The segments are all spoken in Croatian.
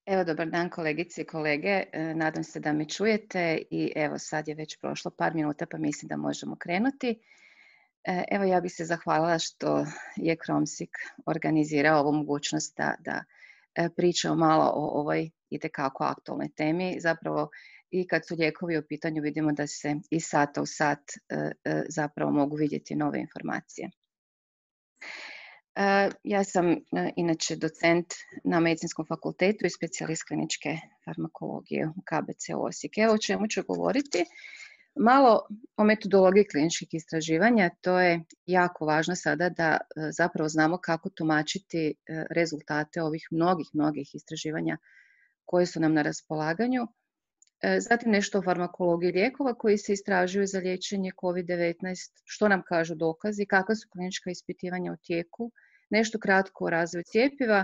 Evo, dobar dan kolegice i kolege. Nadam se da me čujete i evo sad je već prošlo par minuta pa mislim da možemo krenuti. Evo ja bih se zahvalila što je Kromsik organizirao ovu mogućnost da pričamo malo o ovoj itekako aktualnoj temi. Zapravo i kad su lijekovi u pitanju vidimo da se iz sata u sat zapravo mogu vidjeti nove informacije. Ja sam inače docent na Medicinskom fakultetu i specijalist kliničke farmakologije u KBC Osijek. Evo o čemu ću govoriti. Malo o metodologiji kliničkih istraživanja. To je jako važno sada da zapravo znamo kako tumačiti rezultate ovih mnogih istraživanja koje su nam na raspolaganju. Zatim nešto o farmakologiji lijekova koji se istražuju za liječenje COVID-19, što nam kažu dokazi, kakva su klinička ispitivanja u tijeku, nešto kratko o razvoju cjepiva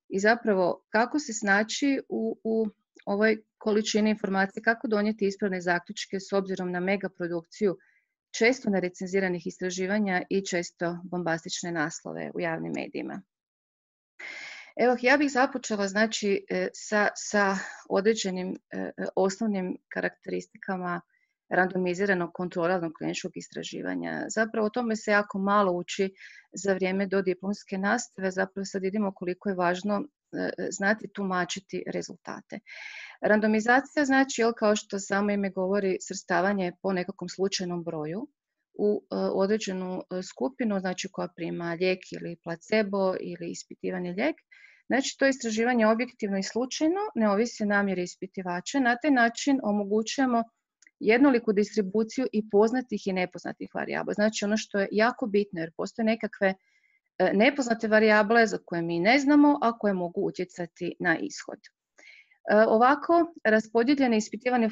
i zapravo kako se snaći u ovoj količini informacije, kako donijeti ispravne zaključke s obzirom na megaprodukciju često nerecenziranih istraživanja i često bombastične naslove u javnim medijima. Evo, ja bih započela znači sa određenim osnovnim karakteristikama randomiziranog kontroliranog kliničkog istraživanja. Zapravo o tome se jako malo uči za vrijeme dodiplomske nastave, zapravo sad vidimo koliko je važno znati tumačiti rezultate. Randomizacija znači, kao što samo ime govori, svrstavanje po nekakvom slučajnom broju u određenu skupinu, znači koja prima lijek ili placebo ili ispitivani lijek. Znači, to istraživanje je objektivno i slučajno, ne ovisi o namjeri ispitivača. Na taj način omogućujemo jednoliku distribuciju i poznatih i nepoznatih varijabla. Znači, ono što je jako bitno, jer postoje nekakve nepoznate varijable za koje mi ne znamo, a koje mogu utjecati na ishod. Ovako, raspodijeljene ispitivane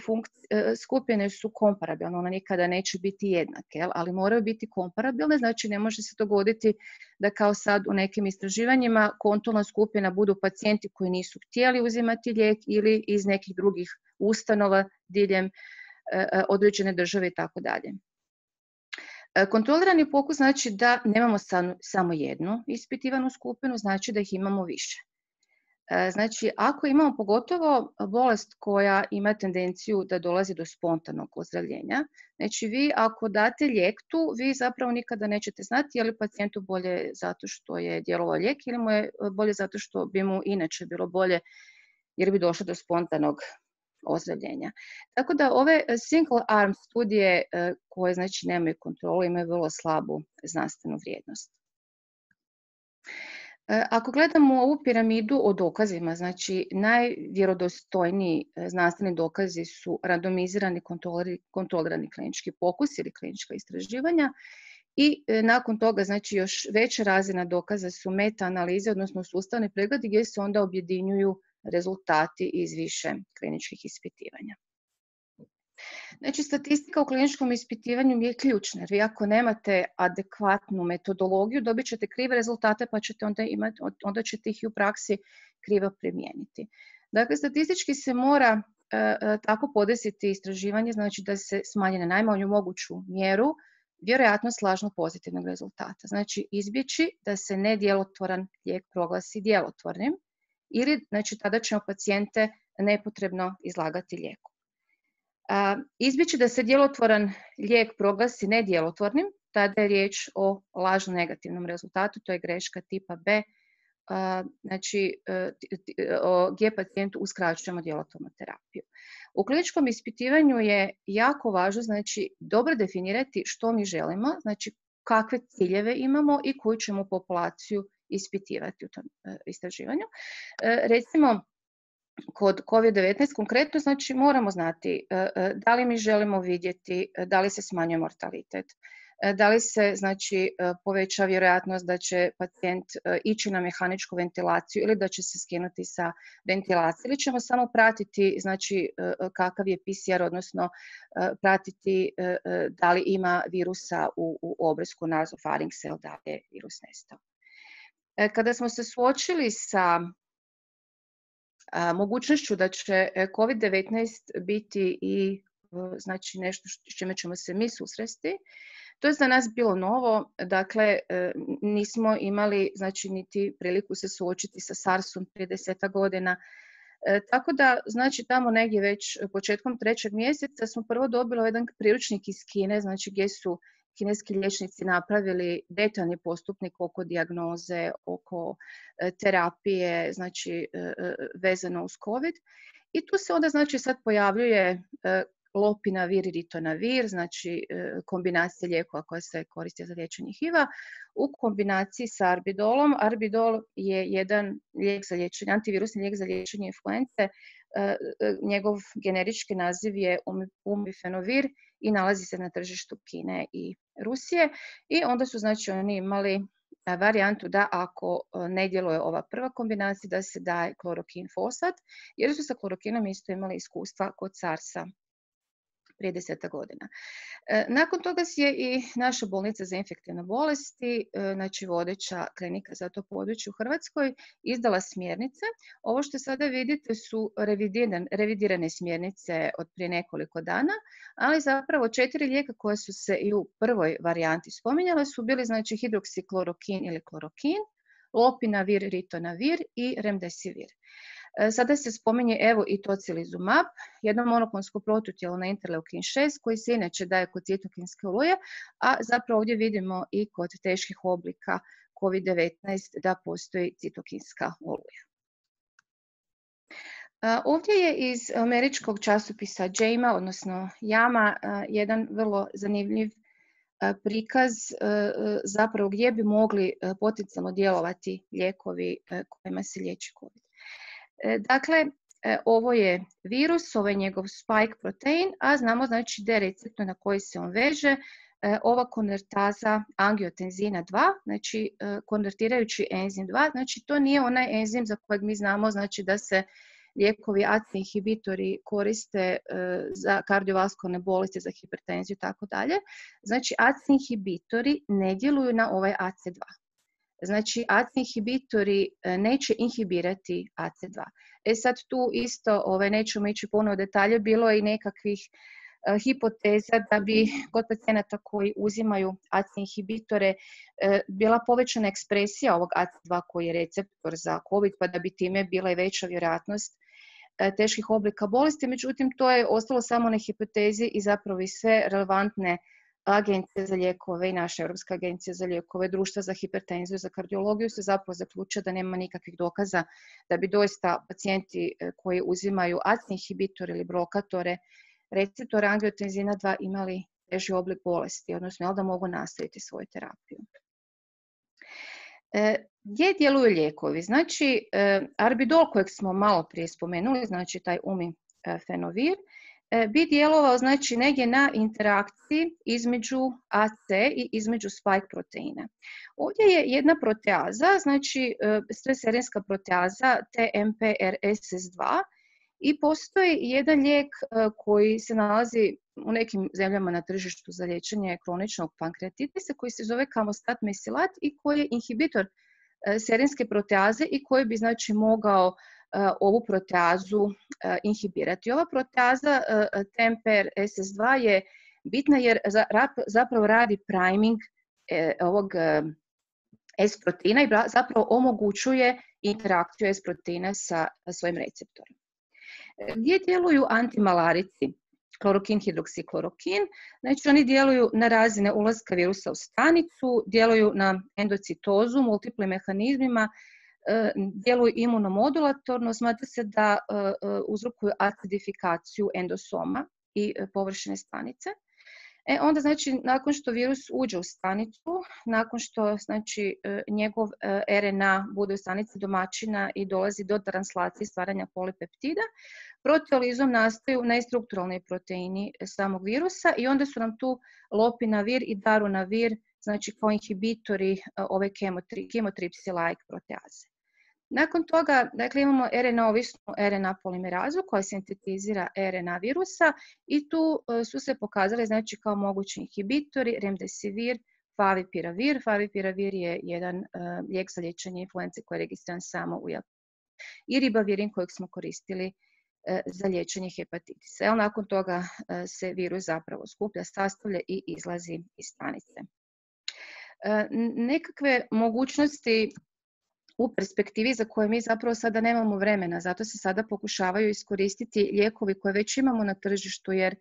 skupine su komparabilne, one nikada neće biti jednake, ali moraju biti komparabilne, znači ne može se dogoditi da kao sad u nekim istraživanjima kontrolna skupina budu pacijenti koji nisu htjeli uzimati lijek ili iz nekih drugih ustanova diljem određene države i tako dalje. Kontrolirani pokus znači da nemamo samo jednu ispitivanu skupinu, znači da ih imamo više. Znači, ako imamo pogotovo bolest koja ima tendenciju da dolazi do spontanog ozdravljenja, znači vi ako date lijek tu, vi zapravo nikada nećete znati je li pacijentu bolje zato što je djelovao lijek ili mu je bolje zato što bi mu inače bilo bolje jer bi došlo do spontanog ozdravljenja. Tako da ove single arm studije koje znači nemaju kontrolu imaju vrlo slabu znanstvenu vrijednost. Ako gledamo ovu piramidu o dokazima, znači najvjerodostojniji znanstveni dokazi su randomizirani kontrolirani klinički pokus ili klinička istraživanja i nakon toga znači još veća razina dokaza su meta-analize, odnosno sustavni pregledi gdje se onda objedinjuju rezultati iz više kliničkih ispitivanja. Znači, statistika u kliničkom ispitivanju je ključna, jer vi ako nemate adekvatnu metodologiju, dobit ćete krive rezultate, pa ćete onda ćete ih i u praksi krivo primijeniti. Dakle, statistički se mora tako podesiti istraživanje, znači da se smanji na najmanju moguću mjeru vjerojatnost lažno pozitivnog rezultata. Znači, izbjeći da se nedjelotvoran lijek proglasi djelotvornim ili, znači, tada ćemo pacijente nepotrebno izlagati lijeku. Izbjeći da se djelotvoran lijek proglasi nedjelotvornim, tada je riječ o lažno negativnom rezultatu, to je greška tipa B, znači gdje pacijentu uskraćujemo djelotvornu terapiju. U kliničkom ispitivanju je jako važno znači dobro definirati što mi želimo, znači kakve ciljeve imamo i koju ćemo populaciju ispitivati u tom istraživanju. Recimo, kod COVID-19 konkretno, znači moramo znati da li mi želimo vidjeti da li se smanjuje mortalitet, da li se znači poveća vjerojatnost da će pacijent ići na mehaničku ventilaciju ili da će se skinuti sa ventilacije ili ćemo samo pratiti znači kakav je PCR, odnosno pratiti da li ima virusa u obrisku nasofaringsa ili da je virus nestao. Kada smo se suočili sa mogućnošću da će COVID-19 biti i znači nešto s čime ćemo se mi susresti, to je za nas bilo novo, dakle nismo imali znači niti priliku se suočiti sa SARS-om prije 10 godina, Tako da, znači, tamo negdje već početkom 3. mjeseca smo prvo dobili jedan priručnik iz Kine, znači gdje su kineski liječnici napravili detaljni postupnik oko dijagnoze, oko terapije, znači vezano uz COVID. I tu se onda, znači, sad pojavljuje lopinavir i ritonavir, znači kombinacija lijekova koja se koriste za liječenje HIV-a u kombinaciji sa arbidolom. Arbidol je jedan lijek za liječenje, antivirusni lijek za liječenje influence. Njegov generički naziv je umifenovir i nalazi se na tržištu Kine i Rusije. I onda su, znači, oni imali varijantu da ako ne djeluje ova prva kombinacija, da se daje klorokin fosfat, jer su sa klorokinom isto imali iskustva kod SARS-a prije 10 godina. Nakon toga je i naša bolnica za infektivne bolesti, znači vodeća klinika za to područje u Hrvatskoj, izdala smjernice. Ovo što sada vidite su revidirane smjernice od prije nekoliko dana, ali zapravo 4 lijeka koja su se i u prvoj varijanti spominjale su bili, znači, hidroksiklorokin ili klorokin, lopinavir, ritonavir i remdesivir. Sada se spominje evo i tocilizumab, jedno monoklonsko protutijelo na interleukin 6 koji se inače daje kod citokinske oluje, a zapravo ovdje vidimo i kod teških oblika COVID-19 da postoji citokinska oluja. Ovdje je iz američkog časopisa JAMA, odnosno JAMA, jedan vrlo zanimljiv prikaz zapravo gdje bi mogli potencijalno djelovati lijekovi kojima se liječi COVID. Dakle, ovo je virus, ovo je njegov spike protein, a znamo, znači, da je receptor na koji se on veže ova konvertaza angiotenzina 2, znači konvertirajući enzim 2, znači to nije onaj enzim za kojeg mi znamo, znači da se lijekovi AC inhibitori koriste za kardiovaskularne bolesti, za hipertenziju i tako dalje. Znači AC inhibitori ne djeluju na ovaj AC2. Znači, AC inhibitori neće inhibirati AC2. Sad tu isto, nećemo ići puno u detalje, bilo je i nekakvih hipoteza da bi kod pacijenata koji uzimaju AC inhibitore bila povećana ekspresija ovog AC2 koji je receptor za COVID, pa da bi time bila i veća vjerojatnost teških oblika bolesti. Međutim, to je ostalo samo na hipotezi i zapravo i sve relevantne agencije za lijekove i naša Europska agencija za lijekove, društva za hipertenziju, za kardiologiju se zapravo zaključuje da nema nikakvih dokaza da bi doista pacijenti koji uzimaju AC inhibitore ili blokatore receptora angiotenzina 2 imali teži oblik bolesti, odnosno da mogu nastaviti svoju terapiju. Gdje djeluju lijekovi? Znači, arbidol kojeg smo malo prije spomenuli, znači taj umifenovir, bi djelovao, znači, negdje na interakciji između AC i između spike proteina. Ovdje je jedna proteaza, znači streserinska proteaza TMPRSS2 i postoji jedan lijek koji se nalazi u nekim zemljama na tržištu za liječenje kroničnog pankreatitisa koji se zove Camostat mesilat i koji je inhibitor serinske proteaze i koji bi, znači, mogao ovu proteazu inhibirati. Ova proteaza TMPRSS2 je bitna jer zapravo radi priming ovog S proteina i zapravo omogućuje interakciju S proteina sa svojim receptorom. Gdje djeluju antimalarici? Klorokin, hidroksiklorokin, znači oni djeluju na razine ulaska virusa u stanicu, djeluju na endocitozu, multiplim mehanizmima, djeluju imunomodulatorno, smatra se da uzrokuju acidifikaciju endosoma i površine stanice. Onda, znači, nakon što virus uđe u stanicu, nakon što, znači, njegov RNA bude u stanici domaćina i dolazi do translacije stvaranja polipeptida, proteolizom nastaju nestrukturalni proteini samog virusa i onda su nam tu lopinavir i darunavir, znači kao inhibitori ove chemotripsy-like proteaze. Nakon toga, dakle, imamo RNA-ovisnu RNA polimerazu koja sintetizira RNA virusa i tu su se pokazali, znači, kao mogući inhibitori remdesivir, favipiravir. Favipiravir je jedan lijek za liječenje influence koji je registriran samo u Japanu. I ribavirin kojeg smo koristili za liječenje hepatitisa. Nakon toga se virus zapravo skuplja, sastavlja i izlazi iz stanice. Nekakve mogućnosti u perspektivi za koje mi zapravo sada nemamo vremena. Zato se sada pokušavaju iskoristiti lijekovi koje već imamo na tržištu, jer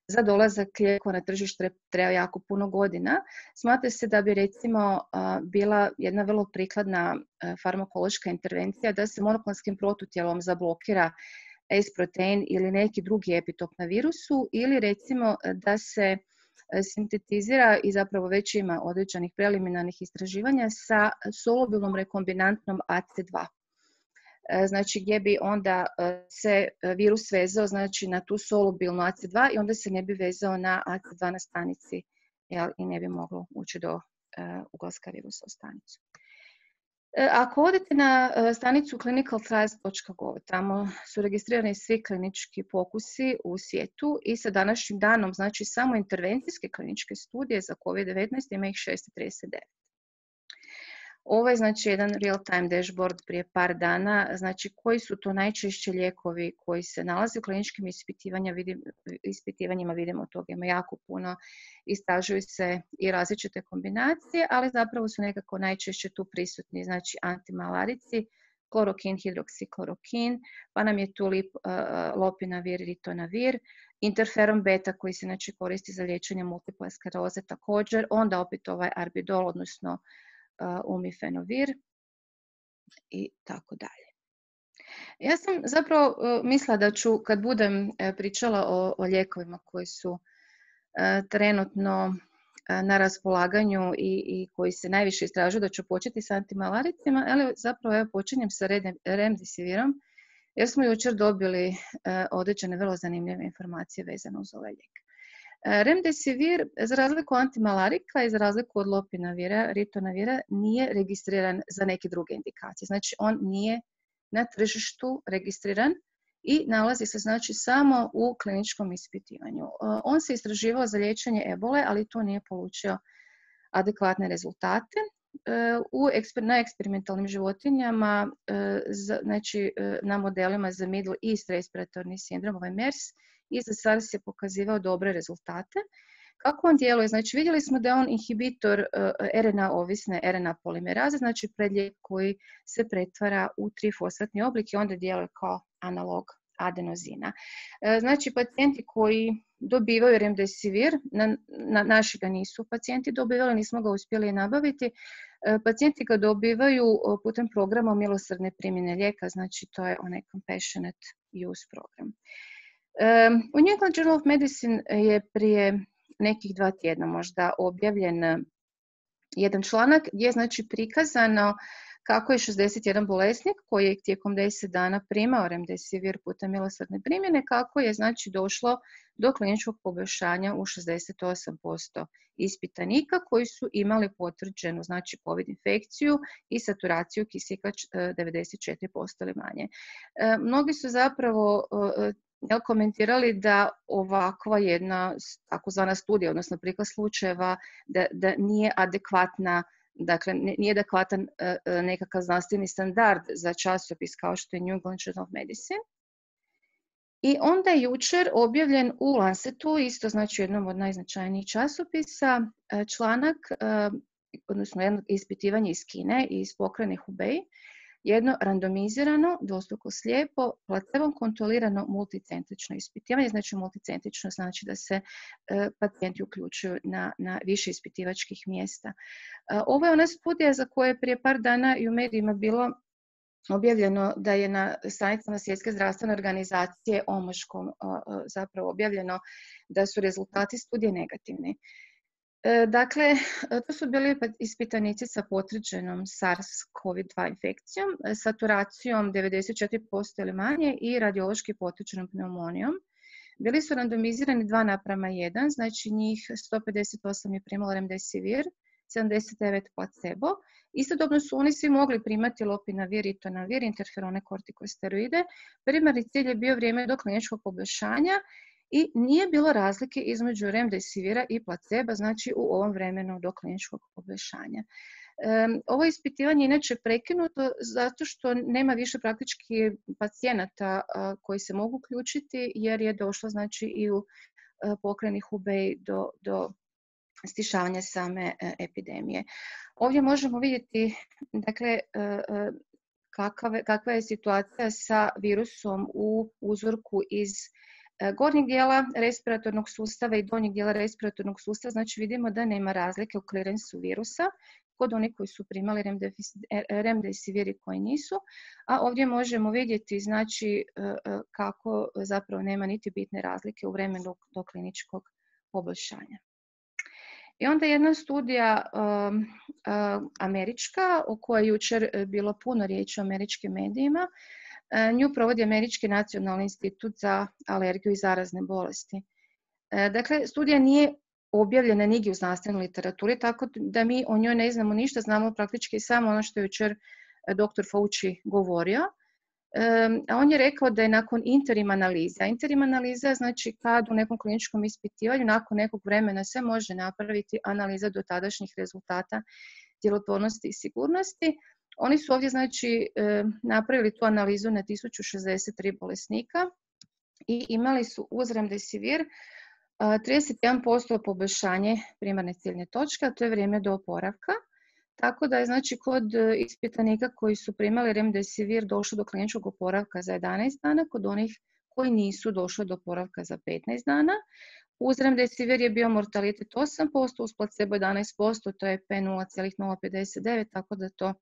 za dolazak lijekova na tržište treba jako puno godina. Smatra se da bi recimo bila jedna vrlo prikladna farmakološka intervencija da se monoklonskim protutijelom zablokira S-protein ili neki drugi epitop na virusu, ili recimo da se sintetizira i zapravo već ima određenih preliminarnih istraživanja sa solubilnom rekombinantnom AC2. Znači gdje bi onda se virus vezao znači na tu solubilnu AC2 i onda se ne bi vezao na AC2 na stanici, jel, i ne bi moglo ući do ulaska virusa u stanicu. Ako odete na stranicu clinicaltrials.gov, tamo su registrirani svi klinički pokusi u svijetu i sa današnjim danom, znači samo intervencijske kliničke studije za COVID-19 ima ih 639. Ovo je znači jedan real-time dashboard prije par dana, znači koji su to najčešće lijekovi koji se nalaze u kliničkim ispitivanjima, vidimo toga ima jako puno, istražuju se i različite kombinacije, ali zapravo su nekako najčešće tu prisutni, znači antimalarici, klorokin, hidroksiklorokin, pa nam je tu lopinavir, ritonavir, interferon beta koji se znači koristi za liječenje multiple skleroze također, onda opet ovaj arbidol, odnosno umifenovir i tako dalje. Ja sam zapravo mislila da ću, kad budem pričala o lijekovima koji su trenutno na raspolaganju i koji se najviše istražuju, da ću početi sa antimalaricima, ali zapravo ja počinjem sa remdesivirom, jer smo jučer dobili određene vrlo zanimljive informacije vezane uz ovaj lijek. Remdesivir, za razliku od antimalarika i za razliku od lopinavira, ritonavira, nije registriran za neke druge indikacije. Znači, on nije na tržištu registriran i nalazi se znači samo u kliničkom ispitivanju. On se istraživao za liječenje ebole, ali to nije polučio adekvatne rezultate. Na eksperimentalnim životinjama, znači na modelima za Middle East respiratorni sindrom, ovaj MERS, i za SARS je pokazivao dobre rezultate. Kako on djeluje? Znači, vidjeli smo da je on inhibitor RNA-ovisne RNA polimeraze, znači predlijek koji se pretvara u trifosfatni oblik i onda djeluje kao analog adenozina. Znači, pacijenti koji dobivaju remdesivir, naši ga nisu pacijenti dobivali, nismo ga uspjeli nabaviti, pacijenti ga dobivaju putem programa milosrdne primjene lijeka, znači to je onaj compassionate use program. U New England Journal of Medicine je prije nekih 2 tjedna možda objavljen jedan članak gdje je znači prikazano kako je 61 bolesnik koji je tijekom 10 dana primao remdesivir putem milosrdne primjene, kako je znači došlo do kliničkog poboljšanja u 68% ispitanika koji su imali potvrđenu znači COVID infekciju i saturaciju kisika 94% ili manje. Mnogi su zapravo komentirali da ovakva jedna takozvana studija, odnosno prikaz slučajeva, da nije adekvatna, dakle nije adekvatan nekakav znanstveni standard za časopis kao što je New England Journal of Medicine. I onda je jučer objavljen u Lancetu, isto znači jednom od najznačajnijih časopisa, članak, odnosno jedno ispitivanje iz Kine i iz pokrajine Hubei, jedno randomizirano, dvostruko slijepo, placebom kontrolirano multicentrično ispitivanje. Znači multicentrično znači da se pacijenti uključuju na više ispitivačkih mjesta. Ovo je ona studija za koje je prije par dana i u medijima bilo objavljeno da je na stranicama Svjetske zdravstvene organizacije omaškom zapravo objavljeno da su rezultati studije negativni. Dakle, to su bili ispitanici sa potvrđenom SARS-CoV-2 infekcijom, saturacijom 94% ili manje i radiološki potvrđenom pneumonijom. Bili su randomizirani 2:1, znači njih 158 je primalo remdesivir, 79 placebo. Istodobno su oni svi mogli primati lopinavir, ritonavir, interferone, kortikosteroide. Primarni cilj je bio vrijeme do kliničkog poboljšanja i nije bilo razlike između remdesivira i placeba, znači u ovom vremenu do kliničkog poboljšanja. Ovo ispitivanje je inače prekinuto zato što nema više praktički pacijenata koji se mogu uključiti, jer je došlo znači i u pokrajini Hubei do stišavanja same epidemije. Ovdje možemo vidjeti dakle, kakva je situacija sa virusom u uzorku iz gornjeg dijela respiratornog sustava i donjeg dijela respiratornog sustava. Znači vidimo da nema razlike u klirensu virusa kod onih koji su primali remdesivir i koji nisu. A ovdje možemo vidjeti znači, kako zapravo nema niti bitne razlike u vremenu do kliničkog poboljšanja. I onda jedna studija američka, o kojoj je jučer bilo puno riječi u američkim medijima, nju provodi Američki nacionalni institut za alergiju i zarazne bolesti. Dakle, studija nije objavljena nigdje u znanstvenoj literaturi, tako da mi o njoj ne znamo ništa, znamo praktički samo ono što je jučer dr. Fauci govorio. A on je rekao da je nakon interim analiza. Interim analiza znači kad u nekom kliničkom ispitivanju nakon nekog vremena se može napraviti analiza dotadašnjih rezultata djelotvornosti i sigurnosti. Oni su ovdje znači napravili tu analizu na 1063 bolesnika i imali su uz remdesivir 31% poboljšanje primarne ciljne točke, a to je vrijeme do oporavka. Tako da je znači kod ispitanika koji su primali remdesivir došlo do kliničkog oporavka za 11 dana, kod onih koji nisu došli do oporavka za 15 dana. Uz remdesivir je bio mortalitet 8%, uz placebo 11%, to je P 0,059, tako da to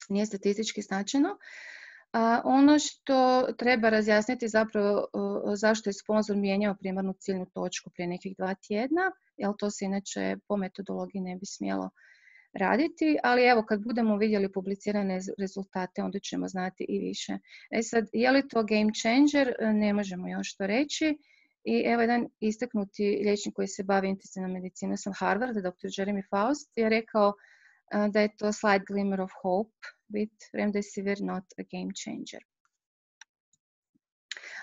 nije statistički značajno. Ono što treba razjasniti zapravo zašto je sponzor mijenjao primarnu ciljnu točku prije nekih 2 tjedna, jer to se inače po metodologiji ne bi smjelo raditi, ali evo kad budemo vidjeli publicirane rezultate onda ćemo znati i više. Sad, je li to game changer? Ne možemo još to reći. I evo jedan istaknuti liječnik koji se bavi intenzivnom medicinom sa Harvarda, dr. Jeremy Faust, je rekao da je to slight glimmer of hope with remdesivir not a game changer.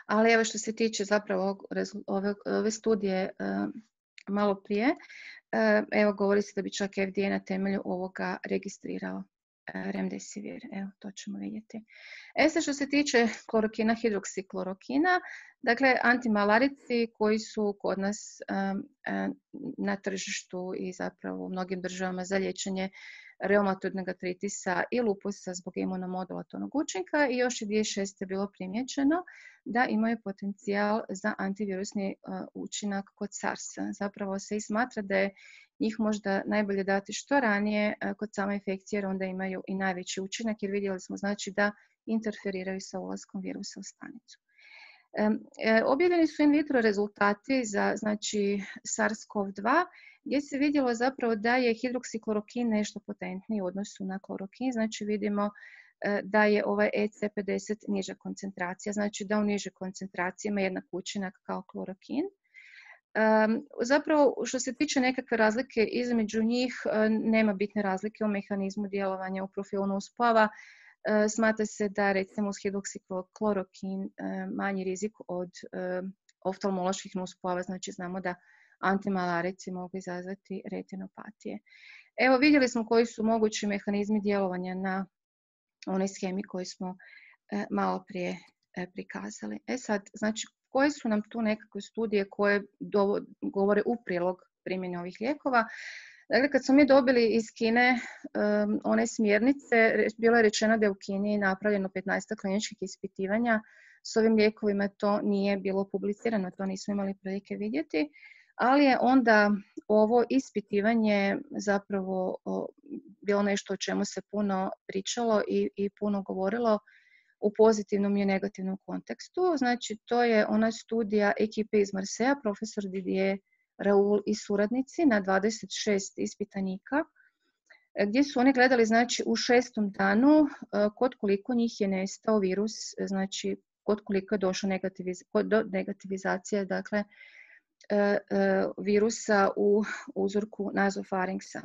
Ali evo što se tiče zapravo ove studije malo prije, evo govori se da bi čak FDA na temelju ovoga registrirao remdesivir. Evo, to ćemo vidjeti. Sad što se tiče klorokina, hidroksiklorokina, dakle antimalarici koji su kod nas na tržištu i zapravo u mnogim državama za liječenje reumatoidnog artritisa i lupusa zbog imunomodulatornog učinka i još je 2006. bilo primijećeno da imaju potencijal za antivirusni učinak kod SARS-a. Zapravo se i smatra da je njih možda najbolje dati što ranije kod same infekcije jer onda imaju i najveći učinak jer vidjeli smo znači da interferiraju sa ulaskom virusa u stanicu. Objavljeni su in vitro rezultati za znači SARS-CoV-2 gdje se vidjelo zapravo da je hidroksiklorokin nešto potentniji u odnosu na klorokin, znači vidimo da je ovaj EC50 niža koncentracija, znači da u nižoj koncentraciji ima jednak učinak kao klorokin. Zapravo što se tiče nekakve razlike između njih nema bitne razlike u mehanizmu djelovanja u profilu nuspojava. Smatra se da recimo uz hidroksiklorokin manji rizik od oftalmoloških nuspojava, znači znamo da antimalarici mogu izazvati retinopatije. Evo vidjeli smo koji su mogući mehanizmi djelovanja na onoj shemi koju smo malo prije prikazali. Sad, znači koje su nam tu nekakve studije koje govore u prilog primjene ovih lijekova? Dakle, kad smo mi dobili iz Kine one smjernice, bilo je rečeno da je u Kini napravljeno 15 kliničkih ispitivanja. S ovim lijekovima to nije bilo publicirano, to nismo imali prilike vidjeti, ali je onda ovo ispitivanje zapravo bilo nešto o čemu se puno pričalo i puno govorilo u pozitivnom i negativnom kontekstu. Znači, to je ona studija ekipe iz Marseja, profesor Didier Raoul i suradnici na 26 ispitanika, gdje su oni gledali znači, u 6. danu kod koliko njih je nestao virus, znači kod koliko je došlo do negativizacije dakle, virusa u uzorku nazofarinksa.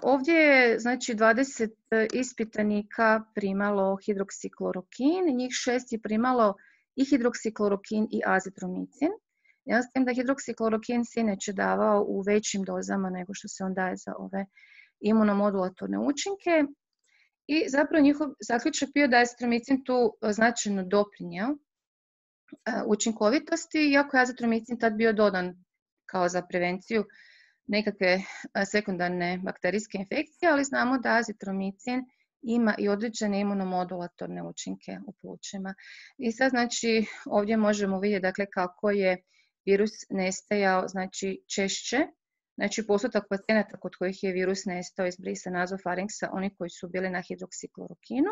Ovdje je znači 20 ispitanika primalo hidroksiklorokin, njih 6 je primalo i hidroksiklorokin i azitromicin. Ja s tim da hidroksiklorokin se inače davao u većim dozama nego što se on daje za ove imunomodulatorne učinke. I zapravo njihov zaključak bio da je azitromicin tu značajno doprinjeo učinkovitosti, iako je azitromicin tad bio dodan kao za prevenciju nekakve sekundarne bakterijske infekcije, ali znamo da azitromicin ima i određene imunomodulatorne učinke u plućima. I sad znači ovdje možemo vidjeti dakle kako je virus nestajao znači češće. Znači postotak pacijenata kod kojih je virus nestao iz brisa nazofarinksa, oni koji su bili na hidroksiklorokinu,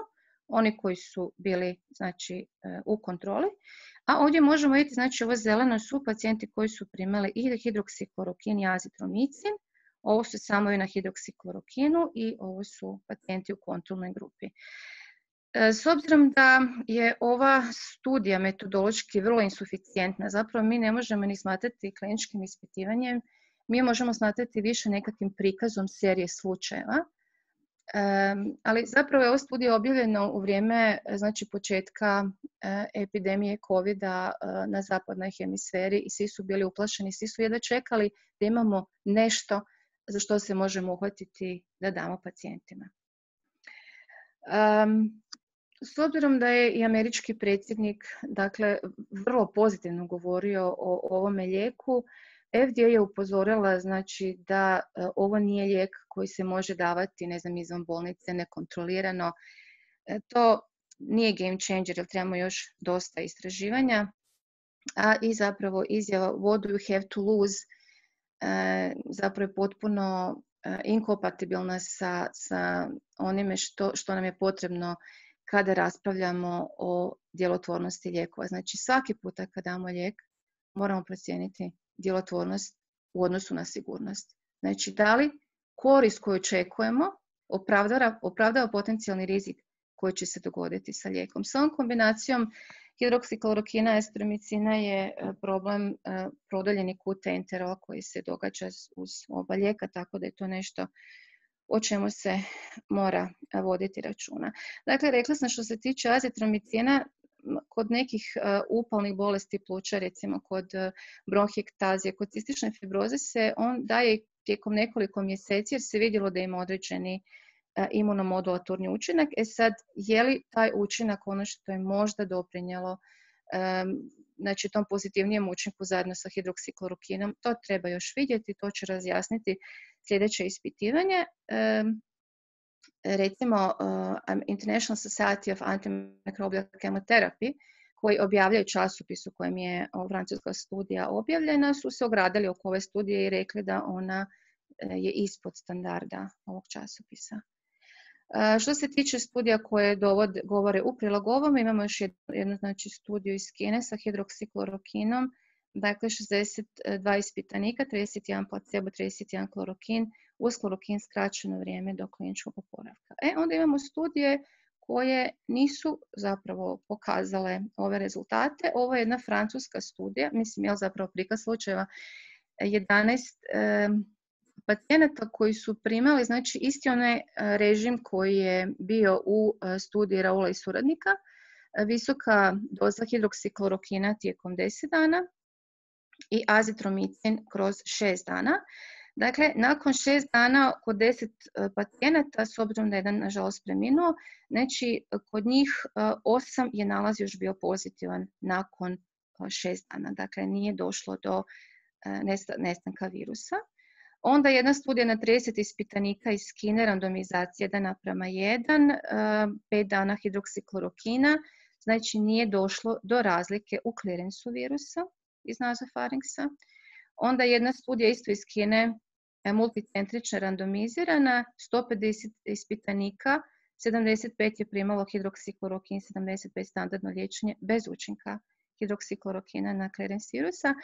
oni koji su bili znači u kontroli. A ovdje možemo vidjeti, znači ovo zeleno su pacijenti koji su primali i hidroksiklorokin i azitromicin. Ovo su samo i na hidroksiklorokinu i ovo su pacijenti u kontrolnoj grupi. S obzirom da je ova studija metodološki vrlo insuficijentna, zapravo mi ne možemo ni smatrati kliničkim ispitivanjem, mi možemo smatrati više nekakvim prikazom serije slučajeva, ali zapravo je ova studija objavljena u vrijeme znači, početka epidemije COVID-a na zapadnoj hemisferi i svi su bili uplašeni, svi su jedva čekali da imamo nešto za što se možemo uhvatiti da damo pacijentima. S obzirom da je i američki predsjednik dakle, vrlo pozitivno govorio o ovome lijeku, FDA je upozorila znači, da ovo nije lijek koji se može davati ne znam, izvan bolnice nekontrolirano. To nije game changer jer trebamo još dosta istraživanja. A i zapravo izjava what do you have to lose zapravo je potpuno inkompatibilna sa onime što nam je potrebno kada raspravljamo o djelotvornosti lijekova. Znači svaki puta kada damo lijek moramo procijeniti djelotvornost u odnosu na sigurnost. Znači da li korist koju očekujemo opravdava potencijalni rizik koji će se dogoditi sa lijekom. S ovom kombinacijom hidroksiklorokina i azitromicina je problem produljeni kut enterola koji se događa uz oba lijeka, tako da je to nešto o čemu se mora voditi računa. Dakle, rekla sam što se tiče azitromicina, kod nekih upalnih bolesti pluća, recimo kod bronhiektazije, kod cistične fibroze se on daje tijekom nekoliko mjeseci jer se vidjelo da ima određeni imunomodulatorni učinak. Sad, je li taj učinak ono što je možda doprinijelo znači tom pozitivnijem učinku zajedno sa hidroksiklorokinom, to treba još vidjeti, to će razjasniti sljedeće ispitivanje. Recimo International Society of Antimicrobial Chemotherapy, koji objavljaju časopis u kojem je francuska studija objavljena, su se ogradili oko ove studije i rekli da ona je ispod standarda ovog časopisa. Što se tiče studija koje govore u prilog ovom, imamo još jednu znači, studiju iz Kine sa hidroksiklorokinom, dakle 62 ispitanika, 31 placebo, 31 klorokin, uz klorokin skraćeno vrijeme do kliničkog oporavka. Onda imamo studije koje nisu zapravo pokazale ove rezultate. Ovo je jedna francuska studija, mislim je zapravo prikaz slučajeva 11 pacijenata koji su primali znači isti onaj režim koji je bio u studiji Raula i suradnika, visoka doza hidroksiklorokina tijekom 10 dana i azitromicin kroz 6 dana. Dakle, nakon 6 dana kod 10 pacijenata, s obzirom da je jedan nažalost preminuo, znači kod njih 8 je nalaz još bio pozitivan nakon 6 dana. Dakle, nije došlo do nestanka virusa. Onda jedna studija na 30 ispitanika iz Kine, randomizacija 1:1, 5 dana hidroksiklorokina, znači nije došlo do razlike u klirensu virusa iz nazofarinksa. Onda jedna studija isto iz Kine, multicentrična randomizirana, 150 ispitanika, 75 je primalo hidroksiklorokin, 75 standardno liječenje bez učinka hidroksiklorokina na klerens virusa.